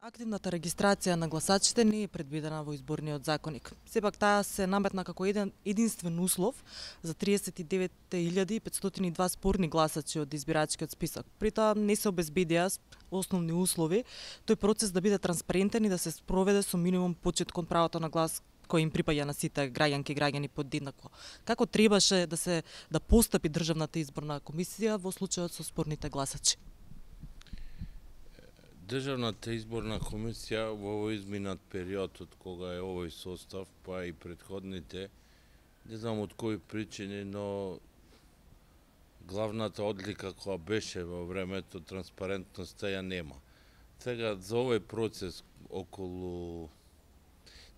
Активната регистрација на гласачите не е предвидена во изборниот законник. Сепак таа се наметна како единствен услов за 39.502 спорни гласачи од избирачкиот список. При тоа не се обезбедија основни услови тој процес да биде транспарентен и да се спроведе со минимум почит кон правото на глас кој им припаѓа на сите граѓанки и граѓани подеднакво. Како требаше да постапи Државната изборна комисија во случајот со спорните гласачи? Државната изборна комисија во овој изминат период од кога е овој состав, па и претходните, не знам од кои причини, но главната одлика која беше во времето, транспарентноста ја нема. Сега за овој процес околу...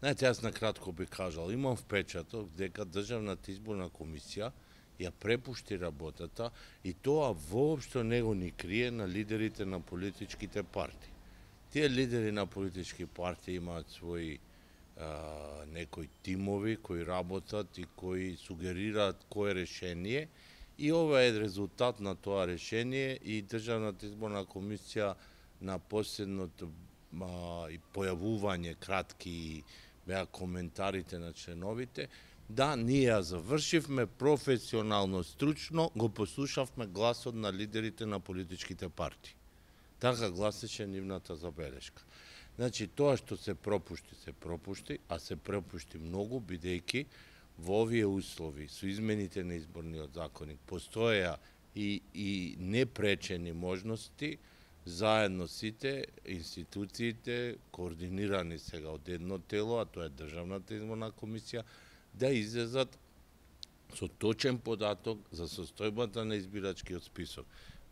Знаете, јас накратко би кажал, имам впечаток дека Државната изборна комисија ја препушти работата и тоа воопшто не го ни крие на лидерите на политичките партии. Тие лидери на политички партии имаат своји некои тимови кои работат и кои сугерираат кое решение и ова е резултат на тоа решение и Државната изборна комисија на последното и појавување кратки беа коментарите на членовите. Да, ние ја завршивме професионално, стручно, го послушавме гласот на лидерите на политичките партии. Така гласеше нивната забелешка. Значи, тоа што се пропушти, а се пропушти многу, бидејќи во овие услови, со измените на изборниот законник, постоја и непречени можности, заедно сите институциите, координирани сега од едно тело, а тоа е Државната изборна комисија, да излезат со точен податок за состојбата на избирачкиот список.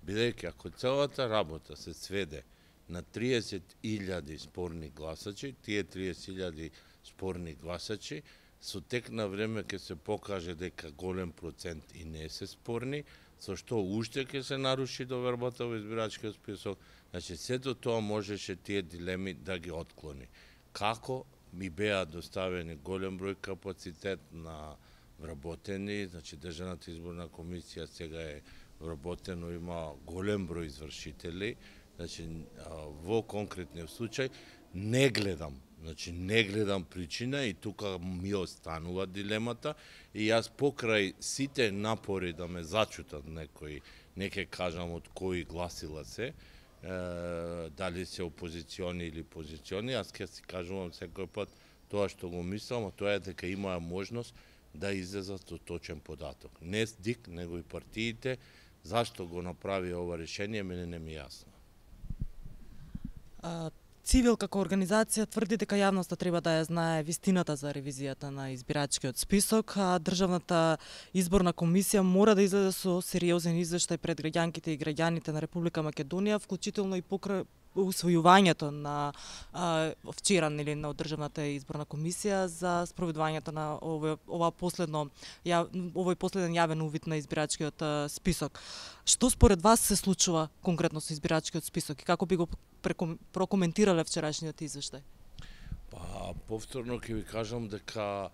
Бидејќи ако целата работа се сведе на 30.000 спорни гласачи, тие 30.000 спорни гласачи со тек на време ќе се покаже дека голем процент и не се спорни, со што уште ќе се наруши довербата во избирачкиот список. Значи, сето тоа можеше тие дилеми да ги отклони. Како ми беа доставени голем број капацитет на вработени, значи Државната изборна комисија сега е вработено, има голем број извршители, значи во конкретниот случај не гледам причина и тука ми останува дилемата и јас покрај сите напори да ме зачутат некои, не ќе кажам од кои гласила се, дали се опозициони или позициони, јас ќе си кажувам секој пат тоа што го мислам, а тоа е дека имаа можност да излезат со точен податок. Не ДИК, него и партиите, зашто го направи ова решение, мене не ми јасно. Цивил како организација тврди дека јавноста треба да ја знае вистината за ревизијата на избирачкиот список, а Државната изборна комисија мора да излезе со сериозен извештај пред граѓанките и граѓаните на Република Македонија, вклучително и покрај усвојувањето на вчера на Државната изборна комисија за спроведувањето на овој последен јавен увид на избирачкиот список. Што според вас се случува конкретно со избирачкиот список и како би го прокоментирале вчерашниот извештај? Па, повторно ќе ви кажам дека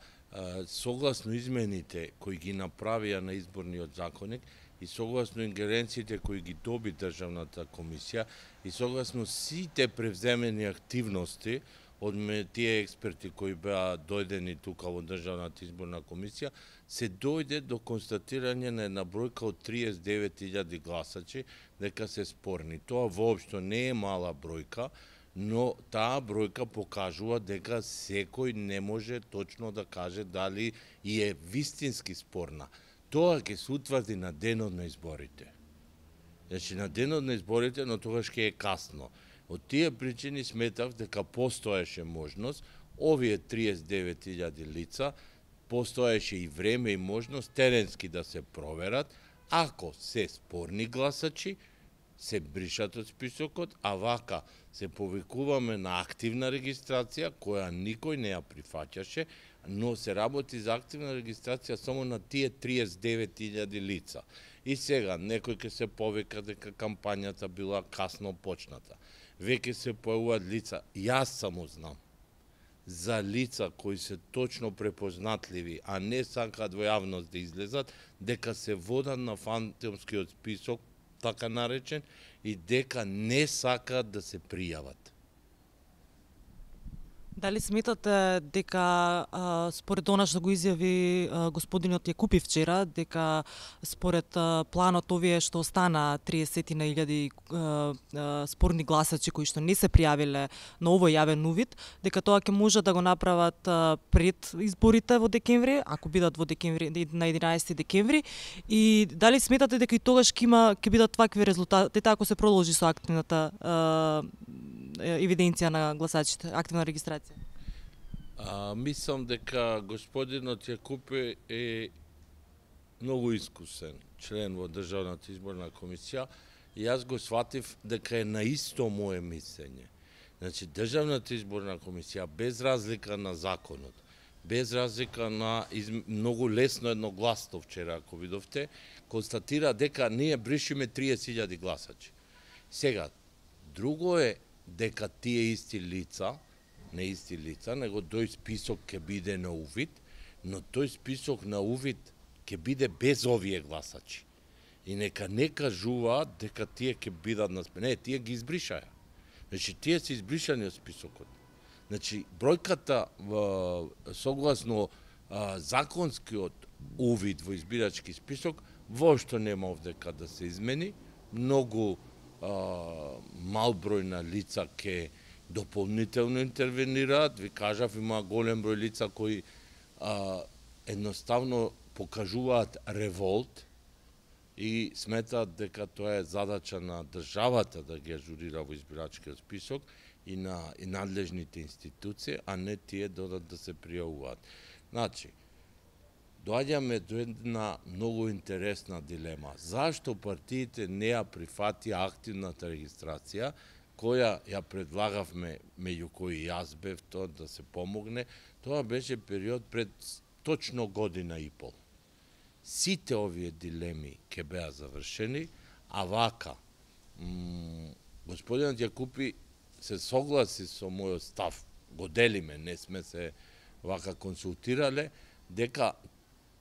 согласно измените кои ги направија на изборниот законник и согласно ингеренциите кои ги доби Државната комисија и согласно сите превземени активности од тие експерти кои беа дојдени тука во Државната изборна комисија, се дојде до констатирање на една бројка од 39.000 гласачи дека се спорни. Тоа воопшто не е мала бројка, но таа бројка покажува дека секој не може точно да каже дали и е вистински спорна. Тоа ќе се утврди на денот на изборите. Значи, на денот на изборите, но тогаш ќе е касно. Од тие причини сметав дека постоеше можност, овие 39.000 лица, постоеше и време и можност теренски да се проверат, ако се спорни гласачи, се бришат од списокот, а вака се повикуваме на активна регистрација, која никој не ја прифаќаше, но се работи за активна регистрација само на тие 39.000 лица. И сега, некој ќе се повика дека кампањата била касно почната. Веќе се појавуваат лица, јас само знам, за лица кои се точно препознатливи, а не сакаат во јавност да излезат, дека се водат на фантомскиот список, така наречен, и дека не сакаат да се пријават. Дали сметате дека според она што го изјави господинот Јакупи вчера, дека според планот овие што остана 30.000 спорни гласачи кои што не се пријавиле на овој јавен увид, дека тоа ќе може да го направат пред изборите во декември, ако бидат во декември на 11 декември, и дали сметате дека и тогаш ќе бидат вакви резултати ако се продолжи со активната евиденција на гласачите, активна регистрација? Мислам дека господинот Јакупи е многу искусен член во Државната изборна комисија и јас го сватив дека е на исто мое мислење. Значи, Државната изборна комисија, без разлика на законот, без разлика на многу лесно едногласно вчера, ако видовте, констатира дека ние бришиме 30.000 гласачи. Сега, друго е дека тие исти лица, не исти лица, него тој список ќе биде на увид, но тој список на увид ќе биде без овие гласачи. И нека не кажуваат дека тие ќе бидат на список. Не, тие ги избришаја. Значи, тие се избришани од списокот. Значи, бројката согласно законскиот увид во избирачки список воопшто нема овдека да се измени. Многу мал број на лица ке дополнително интервенираат. Ви кажав, има голем број лица кои едноставно покажуваат револт и сметаат дека тоа е задача на државата да ги ажурира во избирачкиот список и на надлежните институции, а не тие додат да се пријавуваат. Значи, доаѓаме до една многу интересна дилема. Зашто партиите не ја прифатија активната регистрација, која ја предлагавме, меѓу кои јас бев тоа да се помогне, тоа беше период пред точно година и пол. Сите овие дилеми ќе беа завршени, а вака, господинот Јакупи се согласи со мојот став, го делиме, не сме се вака консултирале, дека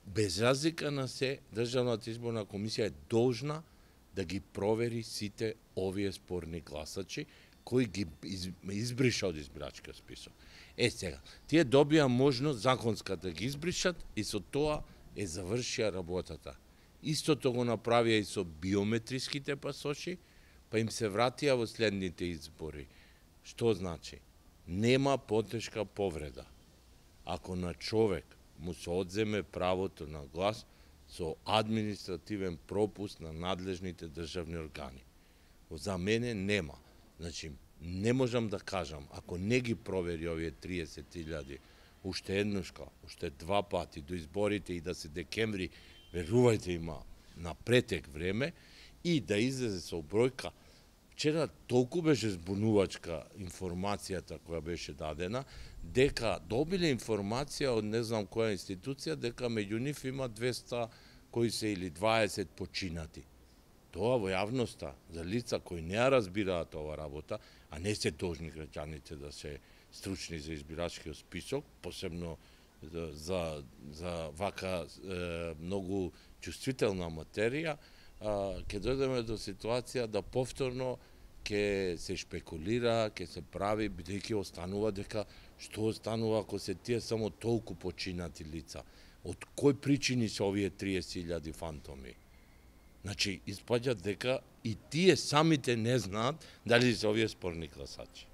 без разлика на се, Државната изборна комисија е должна да ги провери сите овие спорни гласачи, кои ги избриша од избирачкиот список. Сега, тие добија можност законска да ги избришат и со тоа е завршија работата. Истото го направија и со биометриските пасоши, па им се вратија во следните избори. Што значи? Нема потешка повреда. Ако на човек му се одземе правото на глас со административен пропуст на надлежните државни органи. За мене нема. Значи, не можам да кажам, ако не ги провери овие 30.000, уште еднушка, уште два пати до изборите и да се декември, верувајте, има на претек време, и да излезе со бројка. Вчера толку беше збунувачка информацијата која беше дадена, дека добиле информација од не знам која институција, дека меѓу нив има 200 кои се или 20 починати. Тоа во јавноста, за лица кои не ја разбираат ова работа, а не се должни граѓаните да се стручни за избирачкиот список, посебно за вака многу чувствителна материја, ќе дојдеме до ситуација да повторно ќе се шпекулира, ќе се прави, бидејќи останува дека што останува ако се тие само толку починати лица. Од кои причини се овие 30.000 фантоми? Значи, испаѓа дека и тие самите не знаат дали се овие спорни гласачи.